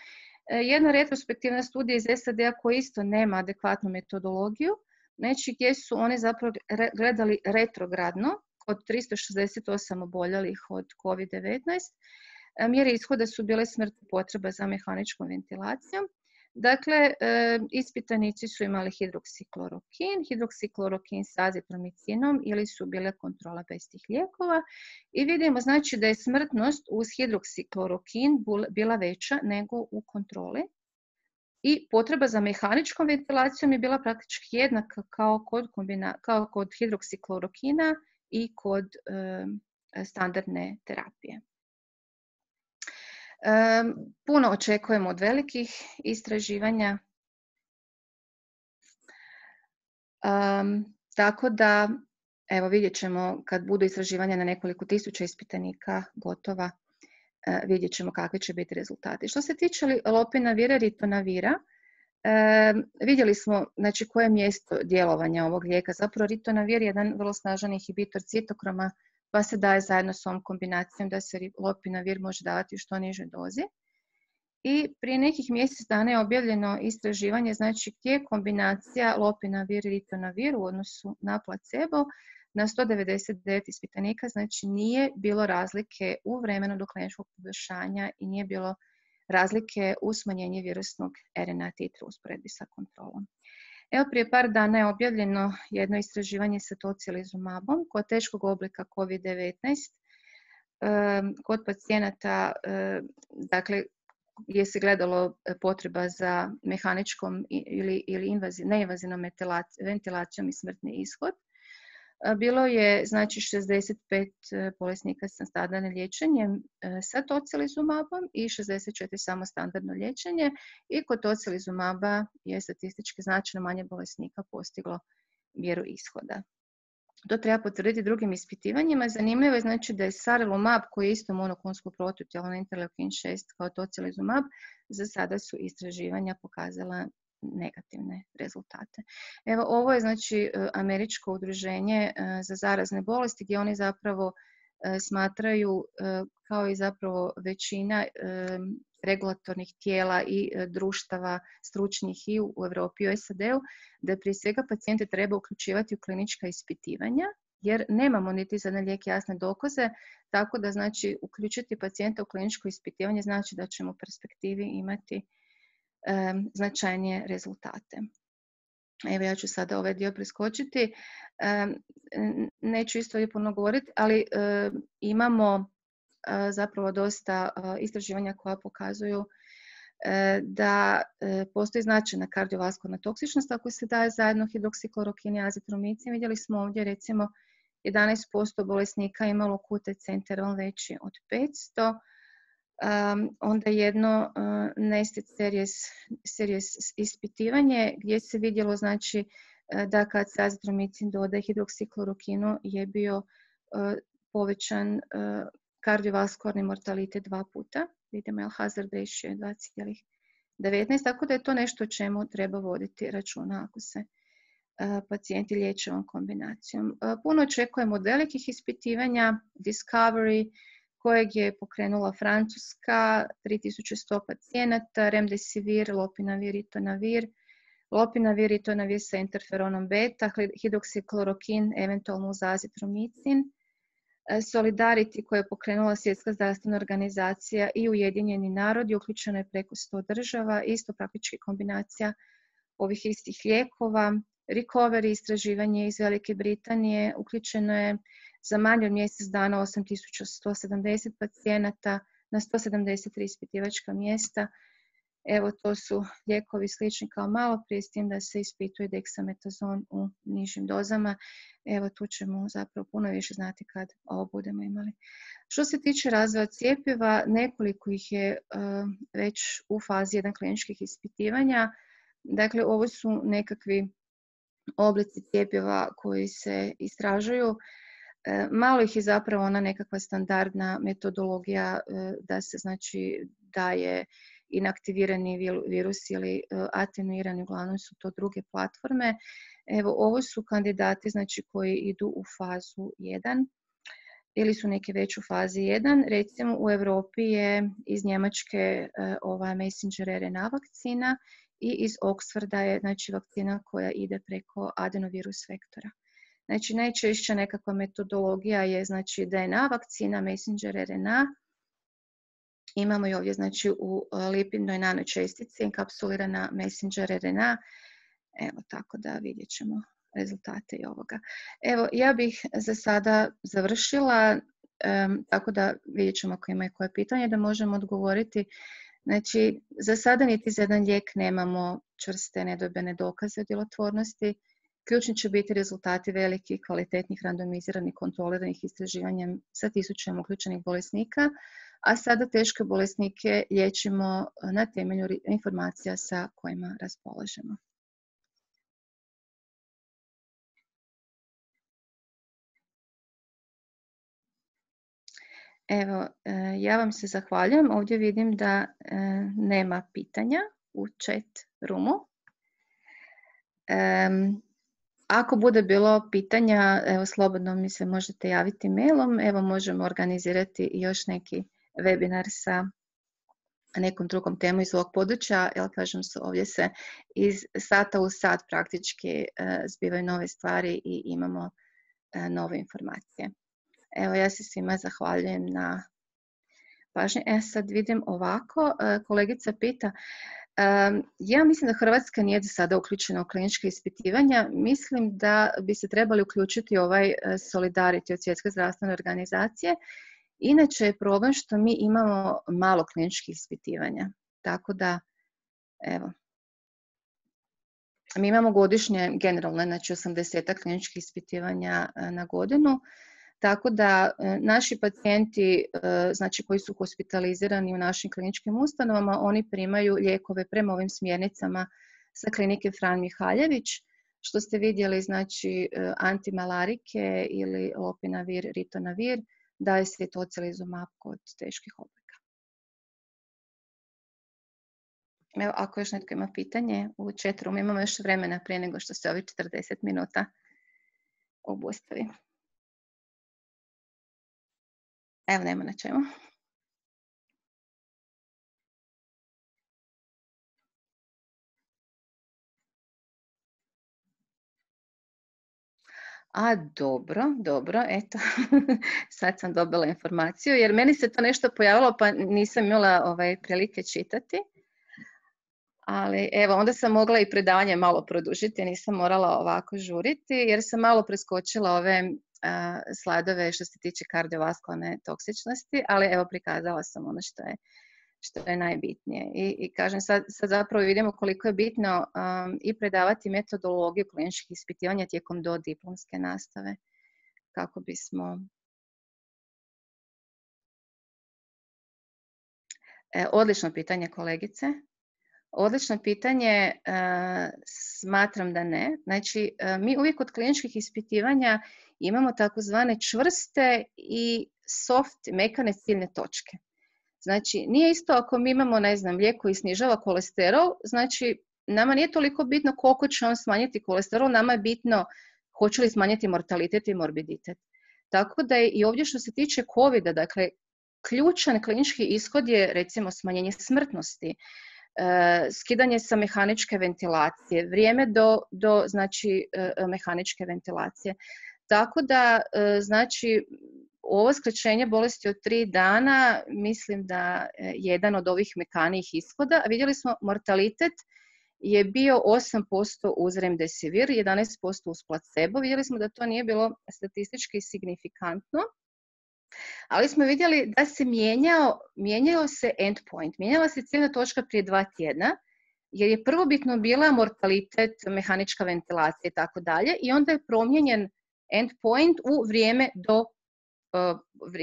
Jedna retrospektivna studija iz SAD-a koja isto nema adekvatnu metodologiju, znači gdje su oni zapravo gledali retrogradno kod 368 oboljelih od COVID-19. Mjere ishoda su bile smrt i potreba za mehaničkom ventilacijom. Dakle, ispitanici su imali hidroksiklorokin s azitromicinom ili su bile kontrola bez tih lijekova i vidimo znači da je smrtnost uz hidroksiklorokin bila veća nego u kontroli i potreba za mehaničkom ventilacijom je bila praktički jednaka kao kod hidroksiklorokina i kod standardne terapije. Puno očekujemo od velikih istraživanja Tako da, evo vidjet ćemo kad budu istraživanja na nekoliko tisuća ispitanika gotova, vidjet ćemo kakvi će biti rezultati. Što se tiče lopinavira, ritonavira, vidjeli smo znači, koje je mjesto djelovanja ovog lijeka. Zapravo ritonavir je jedan vrlo snažan inhibitor citokroma, pa se daje zajedno s ovom kombinacijom da se lopinavir može davati u što nižoj dozi. I prije nekih mjesec dana je objavljeno istraživanje, znači gdje je kombinacija lopinavir i ritonavir u odnosu na placebo na 199 ispitanika, znači nije bilo razlike u vremenu do kliničkog poboljšanja i nije bilo razlike u smanjenju virusnog RNA titra u usporedbi sa kontrolom. Evo prije par dana je objavljeno jedno istraživanje sa tocilizumabom kod teškog oblika COVID-19 kod pacijenata, dakle, gdje se gledalo potreba za mehaničkom ili neinvazivnom ventilacijom i smrtni ishod. Bilo je znači 65 bolesnika sa standardnim liječenjem sa tocilizumabom i 64 samo standardno liječenje i kod tocilizumaba je statistički značajno manje bolesnika postiglo mjeru ishoda. To treba potvrditi drugim ispitivanjima. Zanimljivo je znači da je sarilumab, koji je isto monoklonsko protutijelo na interleukin 6 kao tocilizumab, za sada su istraživanja pokazala negativne rezultate. Evo, ovo je znači američko udruženje za zarazne bolesti gdje oni zapravo smatraju, kao i zapravo većina regulatornih tijela i društava stručnih i u Europi i u SAD-u, da prije svega pacijente treba uključivati u klinička ispitivanja, jer nemamo niti za jedan lijek jasne dokaze, tako da znači uključiti pacijenta u kliničko ispitivanje znači da ćemo u perspektivi imati značajnije rezultate. Evo ja ću sada ovaj dio preskočiti. Neću isto ovdje puno govoriti, ali imamo zapravo dosta istraživanja koja pokazuju da postoji značajna kardiovaskularna toksičnost ako se daje zajedno hidroksiklorokin i azitromicin. Vidjeli smo ovdje recimo 11% bolesnika imalo QTc interval veći od 500. Onda jedno nested series ispitivanje gdje se vidjelo znači da kad se azitromicin dodaje hidroksiklorokinu je bio povećan kardiovaskularni mortalitet 2 puta. Vidimo je hazard ratio je 2,19, tako da je to nešto o čemu treba voditi računa ako se pacijenti liječe ovom kombinacijom. Puno očekujemo od velikih ispitivanja, Discovery, kojeg je pokrenula Francuska, 3100 pacijenata, remdesivir, lopinavir, ritonavir, lopinavir, ritonavir sa interferonom beta, hidroksiklorokin, eventualno uz azitromicin, Solidarity koje je pokrenula Svjetska zdravstvena organizacija i Ujedinjeni narodi, uključeno je preko 100 država, isto praktički kombinacija ovih istih lijekova. Recovery istraživanje iz Velike Britanije, uključeno je za manje od mjesec dana 8170 pacijenata na 173 ispitivačka mjesta. Evo to su lijekovi slični kao malo prije, s tim da se ispituje deksametazon u nižim dozama. Evo tu ćemo zapravo puno više znati kad ovo budemo imali. Što se tiče razvoja cjepiva, nekoliko ih je već u fazi 1 kliničkih ispitivanja. Dakle, ovo su nekakvi oblici cjepiva koji se istražuju. Malo ih je zapravo ona nekakva standardna metodologija da se znači daje inaktivirani virus ili atenuirani, uglavnom su to druge platforme. Evo, ovo su kandidati znači, koji idu u fazu 1 ili su neke već u fazi 1. Recimo u Europi je iz Njemačke ova messenger RNA vakcina i iz Oxforda je znači, vakcina koja ide preko adenovirus vektora. Znači najčešća nekakva metodologija je znači DNA vakcina, messenger RNA. Imamo i ovdje znači u lipidnoj nanočestici enkapsulirana messenger RNA. Evo tako da vidjet ćemo rezultate i ovoga. Evo ja bih za sada završila, tako da vidjet ćemo ako imaju koje pitanje da možemo odgovoriti. Znači za sada niti za jedan lijek nemamo čvrste nedvojbene dokaze o djelotvornosti. Ključni će biti rezultati velikih, kvalitetnih, randomiziranih, kontroliranih istraživanja sa tisućama uključenih bolesnika, a sada teške bolesnike liječimo na temelju informacija sa kojima raspolažemo. Evo, ja vam se zahvaljujem. Ovdje vidim da nema pitanja u chat roomu. Ako bude bilo pitanja, evo, slobodno mi se možete javiti mailom. Evo, možemo organizirati još neki webinar sa nekom drugom temu iz ovog područja, jer kažem, ovdje se iz sata u sat praktički zbivaju nove stvari i imamo nove informacije. Evo, ja se svima zahvaljujem na pažnji. Sad vidim ovako, kolegica pita, ja mislim da Hrvatska nije do sada uključena u kliničke ispitivanja. Mislim da bi se trebali uključiti ovaj Solidarity od Svjetske zdravstvene organizacije. Inače je problem što mi imamo malo kliničkih ispitivanja. Tako da, evo, mi imamo godišnje generalno, znači 80 kliničkih ispitivanja na godinu. Tako da naši pacijenti, znači koji su hospitalizirani u našim kliničkim ustanovama, oni primaju lijekove prema ovim smjernicama sa klinike Fran Mihaljević, što ste vidjeli, znači antimalarike ili lopinavir, ritonavir, daje se tocilizumab kod teških oblika. Evo, ako još netko ima pitanje, u chat room imamo još vremena prije nego što se ovi 40 minuta obustavi. Evo, nema na čemu. A, dobro, eto, sad sam dobila informaciju, jer meni se to nešto pojavilo, pa nisam imala prilike čitati. Ali evo, onda sam mogla i predavanje malo produžiti, nisam morala ovako žuriti, jer sam malo preskočila ove slajdove što se tiče kardiovaskularne toksičnosti, ali evo, prikazala sam ono što je najbitnije. I kažem, sad zapravo vidimo koliko je bitno i predavati metodologiju kliničkih ispitivanja tijekom dodiplomske nastave, kako bismo... Odlično pitanje, kolegice. Odlično pitanje, smatram da ne. Znači, mi uvijek kod kliničkih ispitivanja imamo takozvane čvrste i soft, mekane ciljne točke. Znači, nije isto ako mi imamo, ne znam, lijek koji snižava kolesterol, znači, nama nije toliko bitno koliko će on smanjiti kolesterol, nama je bitno hoće li smanjiti mortalitet i morbiditet. Tako da je i ovdje što se tiče COVID-a, dakle, ključan klinički ishod je, recimo, smanjenje smrtnosti, skidanje sa mehaničke ventilacije, vrijeme do znači, mehaničke ventilacije. Tako da, znači, ovo skraćenje bolesti od 3 dana, mislim da je jedan od ovih mekanijih ishoda. Vidjeli smo, mortalitet je bio 8% uz remdesivir, 11% uz placebo. Vidjeli smo da to nije bilo statistički signifikantno, ali smo vidjeli da se mijenjao se endpoint, mijenjala se ciljna točka prije 2 tjedna, jer je prvobitno bila mortalitet, mehanička ventilacija i tako dalje, i onda je promijenjen endpoint u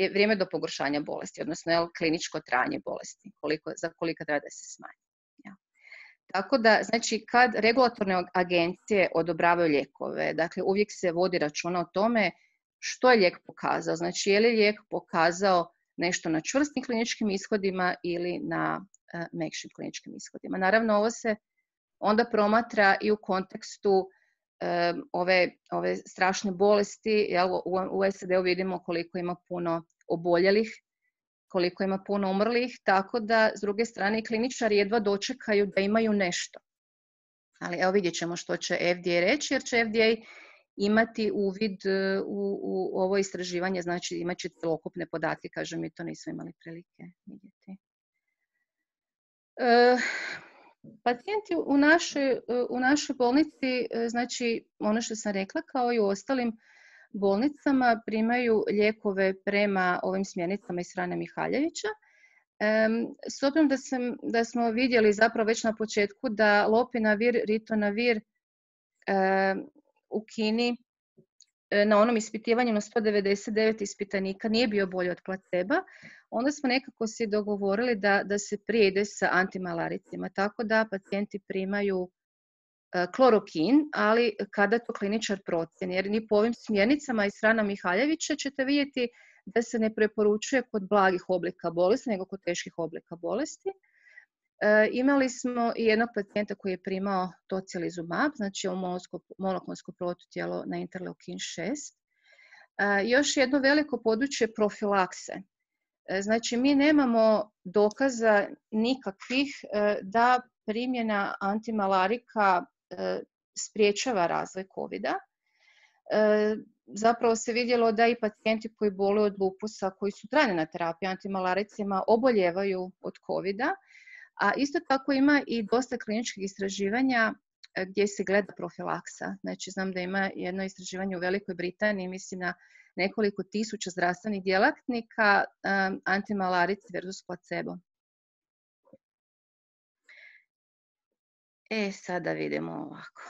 vrijeme do pogoršanja bolesti, odnosno kliničko trajanje bolesti, za koliko treba da se smanji. Ja. Tako da, znači, kad regulatorne agencije odobravaju lijekove, dakle, uvijek se vodi računa o tome što je lijek pokazao. Znači, je li lijek pokazao nešto na čvrstim kliničkim ishodima ili na mekšim kliničkim ishodima. Naravno, ovo se onda promatra i u kontekstu ove strašne bolesti. U SAD-u vidimo koliko ima puno oboljelih, koliko ima puno umrlih, tako da s druge strane kliničari jedva dočekaju da imaju nešto. Ali evo, vidjet ćemo što će FDA reći, jer će FDA imati uvid u ovo istraživanje, znači imat će celokupne podatke, kažem, mi to nismo imali prilike vidjeti. Pacijenti u našoj bolnici, znači ono što sam rekla, kao i u ostalim bolnicama, primaju lijekove prema ovim smjernicama iz Frana Mihaljevića. S obzirom da smo vidjeli zapravo već na početku da lopinavir, ritonavir u Kini na onom ispitivanju na 199 ispitanika nije bio bolji od placeba, onda smo nekako si dogovorili da se prije ide sa antimalaricima, tako da pacijenti primaju klorokin, ali kada to kliničar procjeni, jer ni po ovim smjernicama iz Frana Mihaljevića ćete vidjeti da se ne preporučuje kod blagih oblika bolesti, nego kod teških oblika bolesti. Imali smo i jednog pacijenta koji je primao tocilizumab, znači monoklonsko protutijelo na interleukin 6. Još jedno veliko područje profilakse. Znači, mi nemamo dokaza nikakvih da primjena antimalarika spriječava razvoj COVID-a. Zapravo se vidjelo da i pacijenti koji boluju od lupusa, koji su trajni na terapiji antimalaricima, oboljevaju od COVID-a. A isto tako ima i dosta kliničkih istraživanja gdje se gleda profilaksa. Znači, znam da ima jedno istraživanje u Velikoj Britaniji, mislim na nekoliko tisuća zdravstvenih djelatnika, antimalarici versus placebo. Sada vidimo ovako.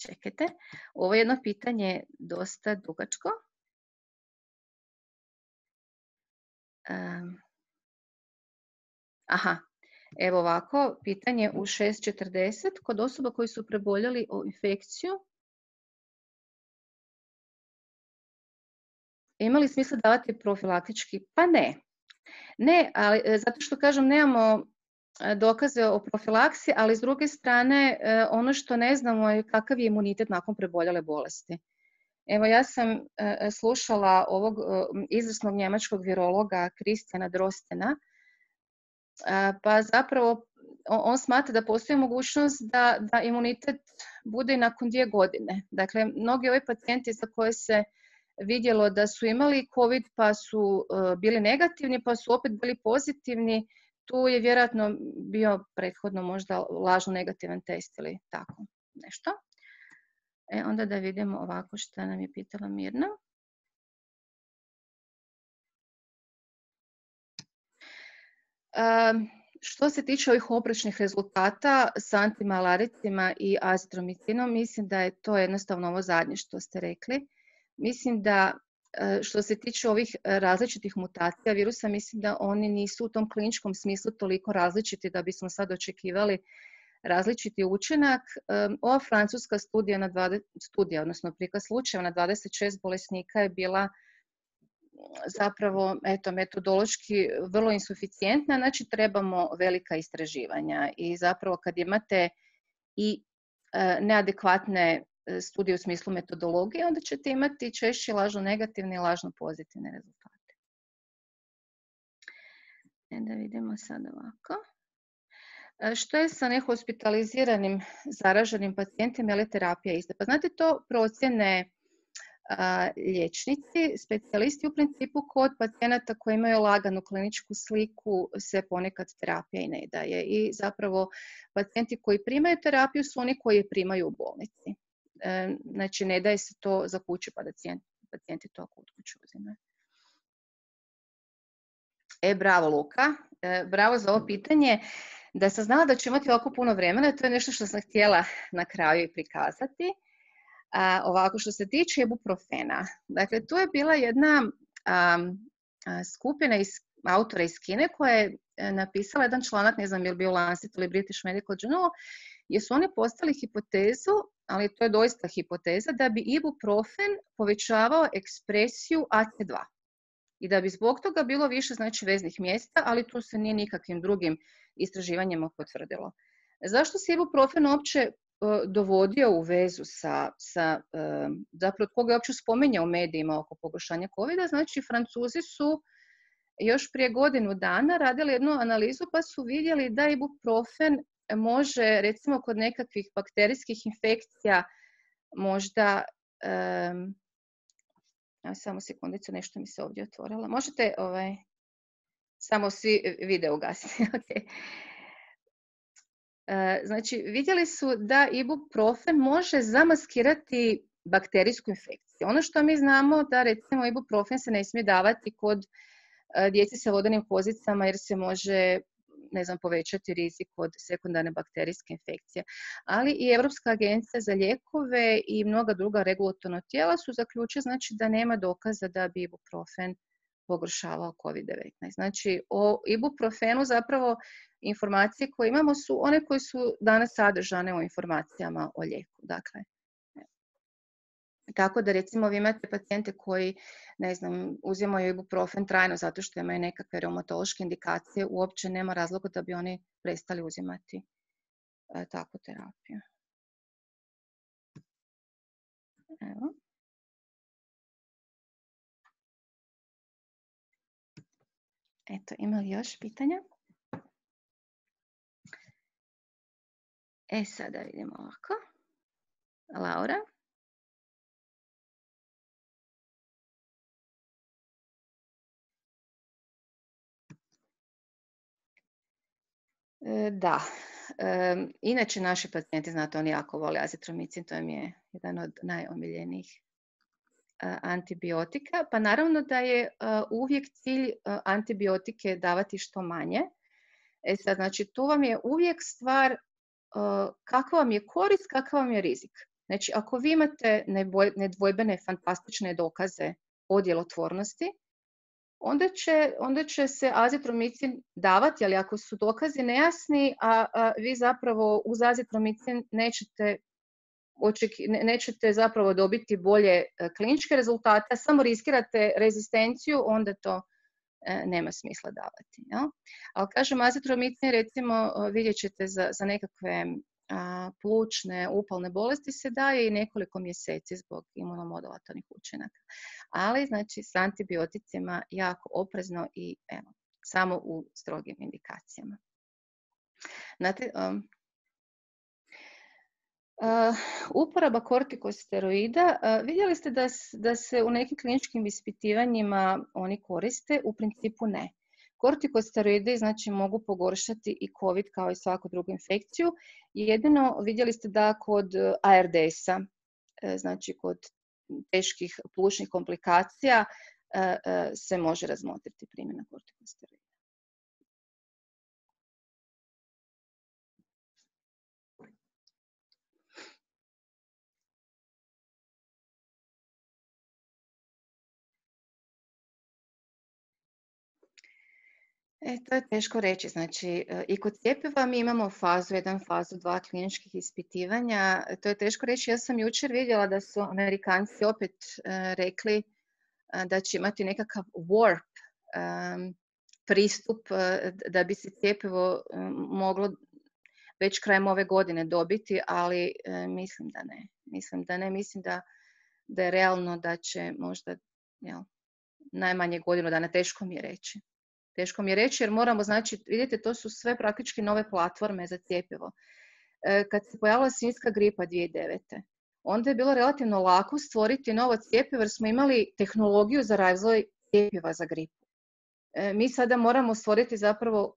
Čekajte. Ovo je jedno pitanje dosta dugačko. Evo ovako, pitanje u 6.40. Kod osoba koji su preboljeli o infekciju, ima li smisla davati profilaktički? Pa ne. Ne, ali zato što kažem nemamo dokaze o profilaksi, ali s druge strane ono što ne znamo je kakav je imunitet nakon preboljele bolesti. Evo ja sam slušala ovog izvrsnog njemačkog virologa Christiana Drostena, pa zapravo on smatra da postoji mogućnost da imunitet bude i nakon 2 godine. Dakle, mnogi ovi pacijenti za koje se vidjelo da su imali COVID pa su bili negativni, pa su opet bili pozitivni, tu je vjerojatno bio prethodno možda lažno negativan test ili tako nešto. Onda da vidimo ovako što nam je pitala Mirna. Što se tiče ovih oprečnih rezultata s antimalaricima i azitromicinom, mislim da je to jednostavno ovo zadnje što ste rekli. Mislim da što se tiče ovih različitih mutacija virusa, mislim da oni nisu u tom kliničkom smislu toliko različiti da bismo sad očekivali različiti učinak. Ova francuska studija, odnosno prikaz slučajeva na 26 bolesnika je bila zapravo metodološki vrlo insuficijentna, znači trebamo velika istraživanja i zapravo kad imate i neadekvatne studije u smislu metodologije, onda ćete imati češće lažno negativne i lažno pozitivne rezultate. Da vidimo sad ovako. Što je sa nehospitaliziranim zaraženim pacijentima ili terapija iste? Pa znate, to procjene liječnici, specijalisti u principu kod pacijenata koji imaju laganu kliničku sliku se ponekad terapija i ne daje. I zapravo pacijenti koji primaju terapiju su oni koji je primaju u bolnici. Znači ne daje se to za kuću pa da pacijenti to kod kuću uzimaju. Bravo Luka, bravo za ovo pitanje. Da sam znala da ću imati ovako puno vremena, to je nešto što sam htjela na kraju i prikazati. Ovako što se tiče ibuprofena, dakle tu je bila jedna skupina autora iz Kine koja je napisala jedan članak, ne znam je li bio Lancet ili British Medical Journal, gdje su oni postavili hipotezu, ali to je doista hipoteza, da bi ibuprofen povećavao ekspresiju AC2 i da bi zbog toga bilo više znači veznih mjesta, ali to se nije nikakvim drugim istraživanjima potvrdilo. Zašto se ibuprofen uopće dovodio u vezu zapravo koga je uopće spominjao u medijima oko pogoršanja COVID-a? Znači, Francuzi su još prije godinu dana radili jednu analizu pa su vidjeli da ibuprofen može, recimo kod nekakvih bakterijskih infekcija, možda, samo sekundicu, nešto mi se ovdje otvorilo. Možete samo svi video ugasiti. Okay. Znači, vidjeli su da ibuprofen može zamaskirati bakterijsku infekciju. Ono što mi znamo da recimo ibuprofen se ne smije davati kod djece sa vodenim pozicama jer se može, ne znam, povećati rizik od sekundarne bakterijske infekcije. Ali i Europska agencija za lijekove i mnoga druga regulatorna tijela su zaključili znači da nema dokaza da bi ibuprofen pogoršavao COVID-19. Znači, o ibuprofenu zapravo informacije koje imamo su one koje su danas sadržane u informacijama o lijeku. Dakle, Tako da recimo vi imate pacijente koji, ne znam, uzimaju ibuprofen trajno zato što imaju nekakve reumatološke indikacije, uopće nema razloga da bi oni prestali uzimati takvu terapiju. Evo. Eto, ima li još pitanja? Sada vidimo ovako. Laura? Da. Inače, naši pacijenti, znate, oni jako vole azitromicin, to im je jedan od najomiljenijih antibiotika. Pa naravno da je uvijek cilj antibiotike davati što manje. Sad, znači, tu vam je uvijek stvar kakva vam je korist, kakav vam je rizik. Znači, ako vi imate nedvojbene, fantastične dokaze o djelotvornosti, onda će se azitromicin davati, ali ako su dokazi nejasni, a vi zapravo uz azitromicin nećete zapravo dobiti bolje kliničke rezultate, a samo riskirate rezistenciju, onda to nema smisla davati. Ja? Ali kažem, azitromicin recimo vidjet ćete za nekakve plućne, upalne bolesti se daje i nekoliko mjeseci zbog imunomodulatornih učinaka. Ali znači s antibioticima jako oprezno i evo, samo u strogim indikacijama. Znate, uporaba kortikosteroida, vidjeli ste da se u nekim kliničkim ispitivanjima oni koriste, u principu ne. Kortikosteroidi znači mogu pogoršati i COVID kao i svaku drugu infekciju. Jedino vidjeli ste da kod ARDS-a, znači kod teških plućnih komplikacija, se može razmotriti primjena kortikosteroida. To je teško reći. Znači, i kod cjepiva mi imamo fazu 1, fazu 2 kliničkih ispitivanja. To je teško reći. Ja sam jučer vidjela da su Amerikanci opet rekli da će imati nekakav warp pristup da bi se cjepivo moglo već krajem ove godine dobiti, ali mislim da ne. Mislim da je realno da će možda najmanje godinu dana, teško mi je reći. Teško mi je reći jer moramo, znači, vidite, to su sve praktički nove platforme za cjepivo. Kad se pojavila svinjska gripa 2009. onda je bilo relativno lako stvoriti novo cjepivo jer smo imali tehnologiju za razvoj cjepiva za gripu. Mi sada moramo stvoriti zapravo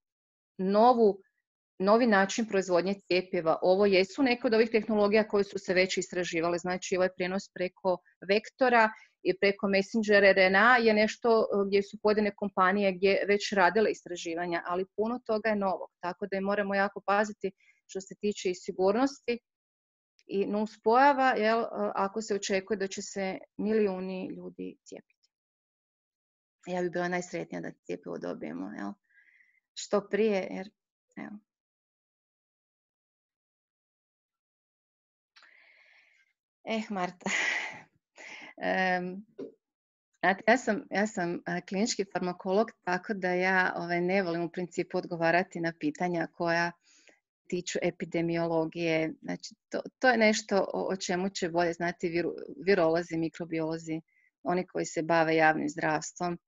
novi način proizvodnje cjepiva. Ovo jesu neke od ovih tehnologija koje su se već istraživale. Znači, ovaj prijenos preko vektora i preko messenger RNA je nešto gdje su pojedine kompanije gdje već radile istraživanja, ali puno toga je novog. Tako da moramo jako paziti što se tiče i sigurnosti i nuspojava, ako se očekuje da će se milijuni ljudi cijepiti. Ja bih bila najsretnija da cjepivo dobijemo što prije, jer evo. Marta, ja sam klinički farmakolog, tako da ja ne volim u principu odgovarati na pitanja koja tiču epidemiologije. Znači, to je nešto o čemu će bolje znati virolozi, mikrobiolozi, oni koji se bave javnim zdravstvom.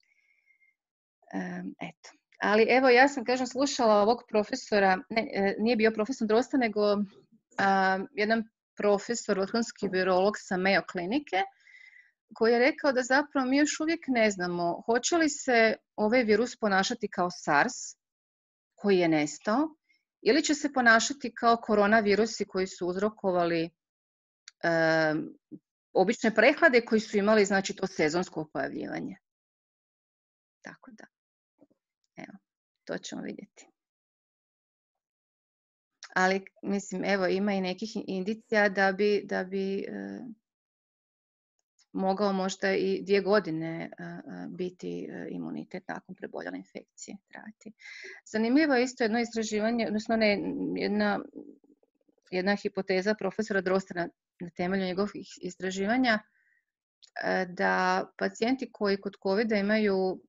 Eto. Ali evo, ja sam, slušala ovog profesora, nije bio profesor Drosta, nego jedan profesor, vrhunski virolog sa Mayo klinike, koji je rekao da zapravo mi još uvijek ne znamo hoće li se ovaj virus ponašati kao SARS, koji je nestao, ili će se ponašati kao koronavirusi koji su uzrokovali obične prehlade koji su imali, znači, to sezonsko pojavljivanje. Tako da, evo, to ćemo vidjeti. Ali, mislim, evo, ima i nekih indicija da bi mogao možda i 2 godine biti imunitet nakon preboljele infekcije trajati. Zanimljivo je isto jedno istraživanje, odnosno jedna hipoteza profesora Drosta na temelju njegovih istraživanja da pacijenti koji kod COVID-a imaju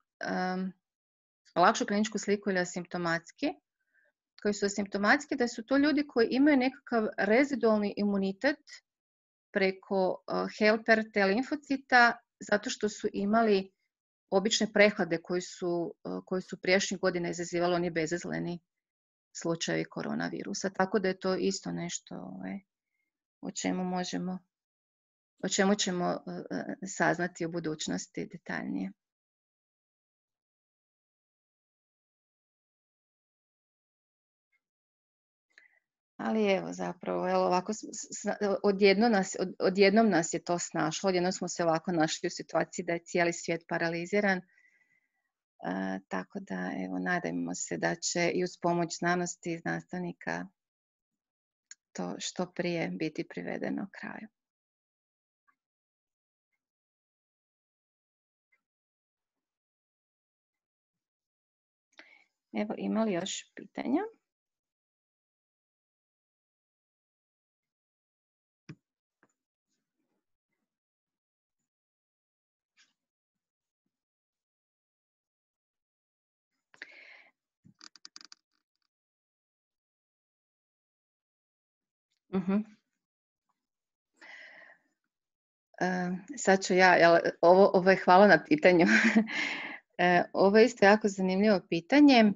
lakšu kliničku sliku ili asimptomatski, koji su asimptomatski, da su to ljudi koji imaju nekakav rezidualni imunitet preko helper T limfocita zato što su imali obične prehlade koji su prijašnjih godina izazivali oni bezazleni slučajevi koronavirusa. Tako da je to isto nešto o čemu ćemo saznati u budućnosti detaljnije. Ali evo zapravo, ovako odjednom nas je to snašlo, odjednom smo se ovako našli u situaciji da je cijeli svijet paraliziran. Tako da evo nadajmo se da će i uz pomoć znanosti i znanstvenika to što prije biti privedeno kraju. Evo, ima li još pitanja? Sad ću ja, ovo je hvala na pitanju. Ovo je isto jako zanimljivo pitanje.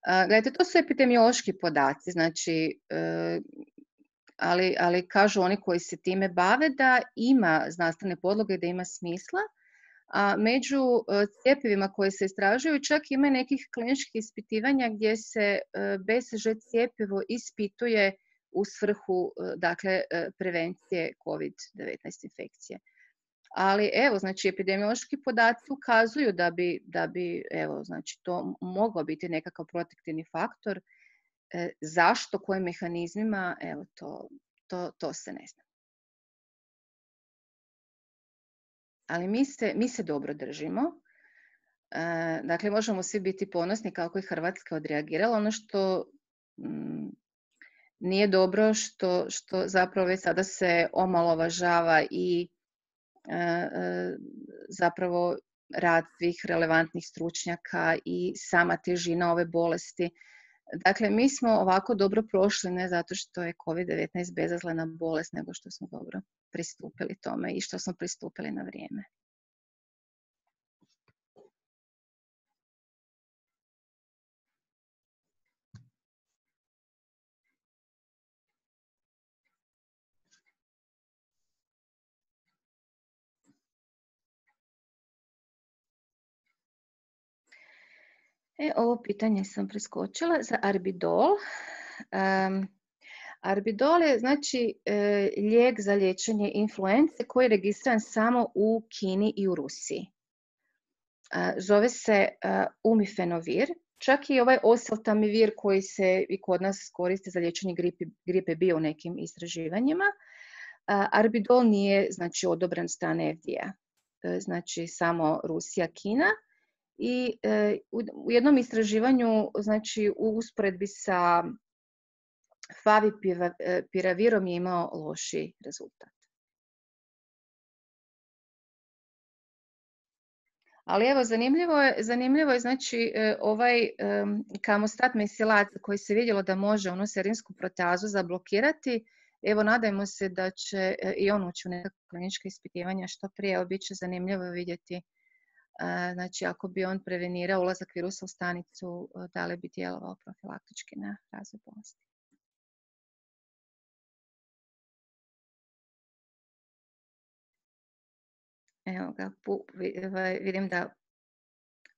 Gledajte, to su epidemiološki podaci, znači, ali kažu oni koji se time bave da ima znanstvene podloge, da ima smisla, a među cjepivima koje se istražuju čak ima nekih kliničkih ispitivanja gdje se BCG cjepivo ispituje u svrhu, dakle, prevencije COVID-19 infekcije. Ali evo, znači, epidemiološki podaci ukazuju da bi evo, znači, to mogao biti nekakav protektivni faktor. Zašto, kojim mehanizmima, evo, to se ne zna. Ali mi se dobro držimo. Dakle, možemo svi biti ponosni kako je Hrvatska odreagirala. Ono što nije dobro, što zapravo već sada se omalovažava i zapravo rad svih relevantnih stručnjaka i sama težina ove bolesti. Dakle, mi smo ovako dobro prošli ne zato što je COVID-19 bezazlena bolest, nego što smo dobro pristupili tome i što smo pristupili na vrijeme. Ovo pitanje sam preskočila za Arbidol. Arbidol je znači lijek za liječenje influence koji je registriran samo u Kini i u Rusiji. Zove se Umifenovir. Čak i ovaj oseltamivir koji se i kod nas koristi za liječenje gripe bio u nekim istraživanjima. Arbidol nije znači odobren strane FDA. Znači samo Rusija, Kina. I u jednom istraživanju, znači u usporedbi sa Favipiravirom je imao loši rezultat. Ali evo, zanimljivo je znači ovaj kamostat mesilat koji se vidjelo da može onu serinsku proteazu zablokirati. Evo, nadajmo se da će i on ući u neka klinička ispitivanja što prije. Bit će zanimljivo vidjeti. Znači, ako bi on prevenirao ulazak virusa u stanicu, da li bi djelovao profilaktički na razvoj bolesti. Evo ga, vidim da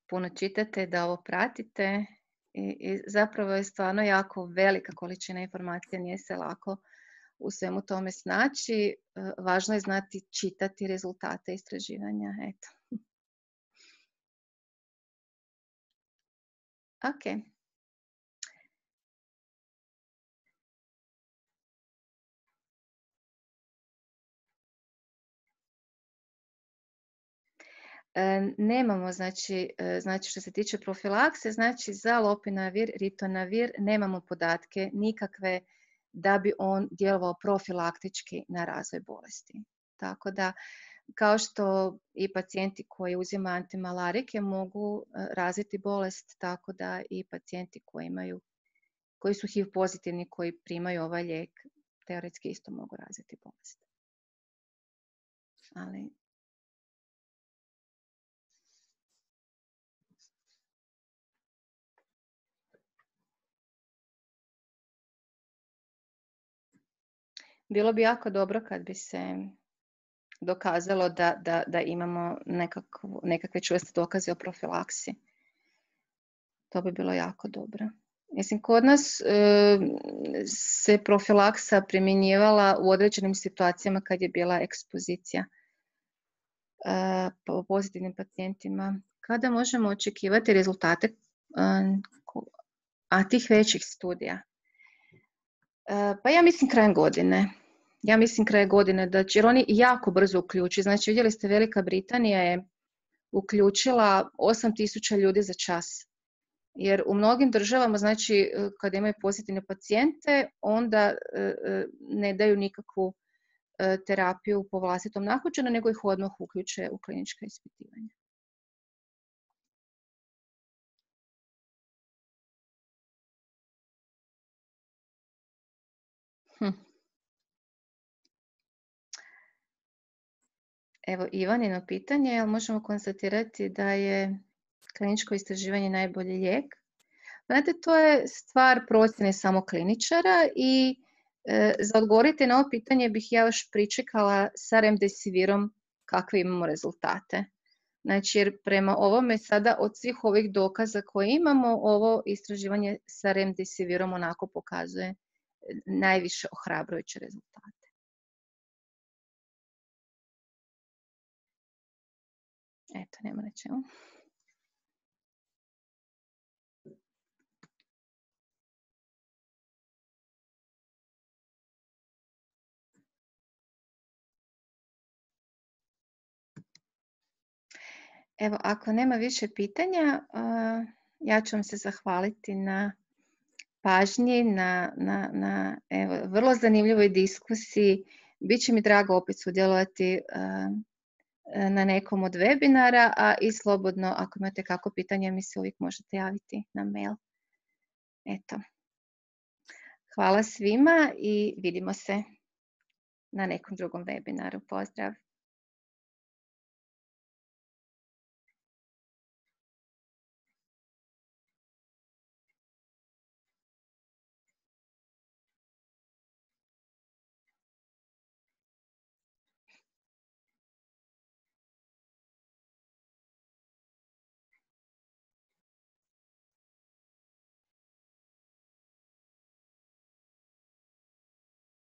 puno čitate, da ovo pratite i zapravo je stvarno jako velika količina informacija, nije se lako u svemu tome snaći. Važno je znati čitati rezultate istraživanja. Eto. Ok. Nemamo, znači što se tiče profilakse, znači za lopinavir, ritonavir nemamo podatke nikakve da bi on djelovao profilaktički na razvoj bolesti. tako da kao što i pacijenti koji uzimaju antimalarike mogu razviti bolest, tako da i pacijenti koji su HIV pozitivni, koji primaju ovaj lijek, teoretski isto mogu razviti bolest. Ali bilo bi jako dobro kad bi se dokazalo da imamo nekakve čvrste dokaze o profilaksi. To bi bilo jako dobro. Mislim, kod nas se profilaksa primjenjivala u određenim situacijama kad je bila ekspozicija po pozitivnim pacijentima. Kada možemo očekivati rezultate tih većih studija? Pa ja mislim krajem godine. Jer oni jako brzo uključuju. Znači, vidjeli ste, Velika Britanija je uključila 8.000 ljudi za čas. Jer u mnogim državama, znači, kada imaju pozitivne pacijente, onda ne daju nikakvu terapiju po vlastitom nahođenju, nego ih odmah uključe u klinička ispitivanja. Evo, Ivanino pitanje, jel možemo konstatirati da je kliničko istraživanje najbolji lijek? Znate, to je stvar procjene samo kliničara i za odgovoriti na ovo pitanje bih ja još pričekala sa remdesivirom kakve imamo rezultate. Znači, jer prema ovome sada od svih ovih dokaza koje imamo, ovo istraživanje sa remdesivirom onako pokazuje najviše ohrabrujuće rezultate. Eto, nema na čemu. Evo, ako nema više pitanja, ja ću vam se zahvaliti na pažnji, na vrlo zanimljivoj diskusiji. Biće mi drago opet sudjelovati na nekom od webinara, a i slobodno, ako imate kako pitanje, mi se uvijek možete javiti na mail. Eto. Hvala svima i vidimo se na nekom drugom webinaru. Pozdrav!